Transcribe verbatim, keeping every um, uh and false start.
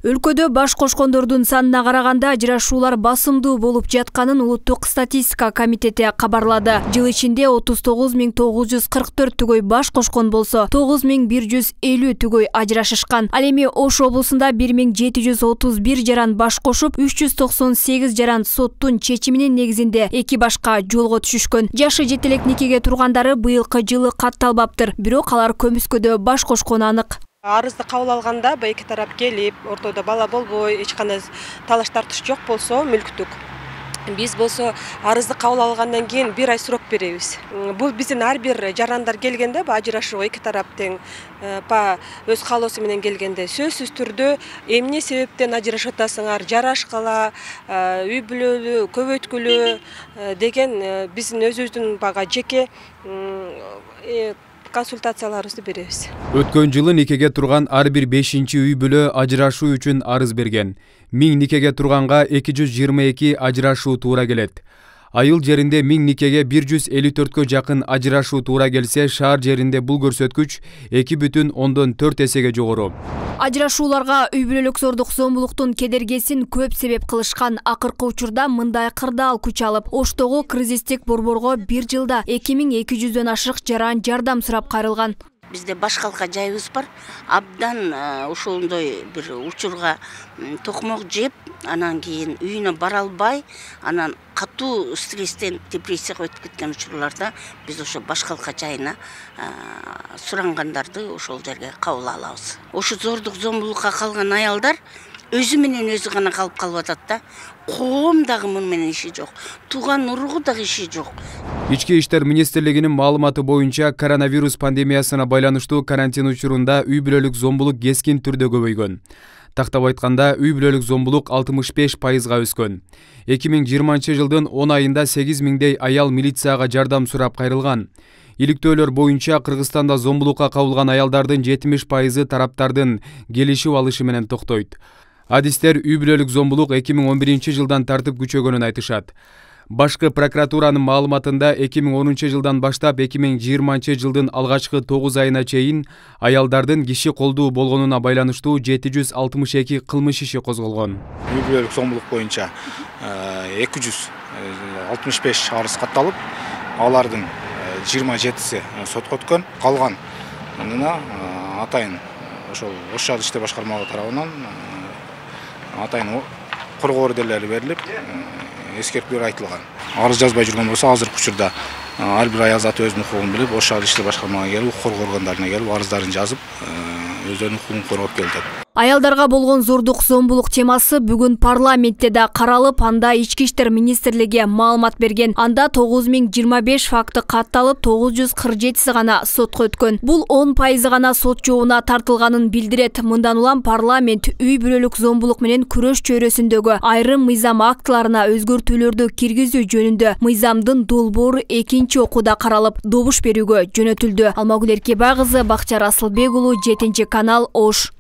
Өлкөдө баш кошкондордун санына караганда ажырашуулар басымдуу болуп жатканын Улуттук статистика комитети кабарлады. Жыл ичинде отуз тогуз миң тогуз жүз кырк төрт түгөй баш кошкон болсо, тогуз миң бир жүз элүү түгөй ажырашышкан. Ал эми Ош облусунда бир миң жети жүз отуз бир жаран баш кошуп, үч жүз токсон сегиз жаран соттун чечиминин негизинде эки башка жолго түшүшкөн. Жашы жете элек никеге тургандары быйылкы жылы катталбаптыр, бирок алар көмүскөдө баш кошкону анык. Арызды кабыл алганда эки тарап келип, ортодо бала болбой, эч кандай талаш тартыш жок болсо мүлктүк. Биз болсо арызды кабыл алгандан кийин бир ай срок беребиз. Бул биздин ар бир жарандар келгенде, ажырашууга эки тарап тең па өз каалоосу менен келгенде сөзсүз түрдө эмне себептен ажырашып атасыңар, жарашкала, үй бүлөлү көбөйткүлө деген биздин өзүбүздүн бага жеке консультацияларыбызды беребиз. Өткөн жылы никеге турган ар бир бешинчи үй бүлө ажырашуу үчүн арыз берген. миң никеге турганга эки жүз жыйырма эки ажырашуу туура келет. Айыл жеринде миң никеге бир жүз элүү төрткө жакын ажырашуу туура келсе, шаар жеринде бул көрсөткүч эки бүтүн ондон төрт эсеге жогору. Ажырашууларга үй бүлөлүк зордук зомбулуктун кедергесин көп себеп кылышкан. Акыркы учурда мындай кырдаал күч алып, Оштогу кризистик борборго бир жылда эки миң эки жүздөн ашык жаран жардам сурап кайрылган. Бизде баш калка жайыбыз бар. Абдан ошондой бир учурга токмок жеп, анан кийин үйүнө бара албай, анан катуу стресстен депрессияга өтүп кеткен учурларда биз ошо баш калка жайына сурангандарды ошол жерге кабыл алабыз. Ошо зордук зомбулукка калган аялдар өзү менен өзү гана калып калып атат да. Коом дагы муну менен иши жок. Тууган уругу дагы иши жок. Ички иштер министрлигинин маалыматы боюнча коронавирус пандемиясына байланыштуу карантин учурунда үй бүлөлүк зомбулук кескин түрдө көбөйгөн. Тактап айтканда, үй бүлөлүк зомбулук алтымыш беш пайызга өскөн. эки миң жыйырманчы жылдын он айында сегиз миңдей аял милицияга жардам сурап кайрылган. Иликтөөлөр боюнча Кыргызстанда зомбулукка кабылган аялдардын жетимиш пайызы тараптардын келишип алышы менен токтойт. Адистер үй бүлөлүк зомбулук эки миң он биринчи жылдан тартып күчөгөнүн айтышат. Башкы прокуратуранын маалыматында эки миң онунчу жылдан баштап эки миң жыйырманчы жылдын алгачкы тогуз айына чейин аялдардын киши колдуу болгонуна байланыштуу жети жүз алтымыш эки кылмыш иши козголгон. Үй бүлөлүк зомбулук боюнча эки жүз алтымыш беш арыз катталып, алардын жыйырма жетиси сотко өткөн. Калганына атайын ошол Ош шаардык иштер башкармалыгы тарабынан атайын коргоо ордерлери берилип, эскертүүлөр айтылган. Арыз жазбай жүргөн болсо, азыркы учурда ар бир аял заты өзүнүн укугун билип, Ош шаардык иштер башкармалыгына келип, укук коргоо органдарына келип, арыздарын жазып, өздөрүнүн укугун коргоп келет. Аялдарга болгон зордук зомбулук темасы бүгүн парламентте да каралып, анда Ички иштер министрлиги маалымат берген. Анда тогуз миң жыйырма беш факты катталып, тогуз жүз кырк жетиси гана сотко өткөн. Бул он пайызы гана сот жообуна тартылганын билдирет. Мындан улам парламент үй бүлөлүк зомбулук менен күрөш чөйрөсүндөгү айрым мыйзам актыларына өзгөртүүлөрдү киргизүү жөнүндө мыйзамдын долбоору экинчи окууда каралып, добуш берүүгө жөнөтүлдү. Алмагүл Эркебай кызы, Бакчар Асылбек уулу, жетинчи канал, Ош.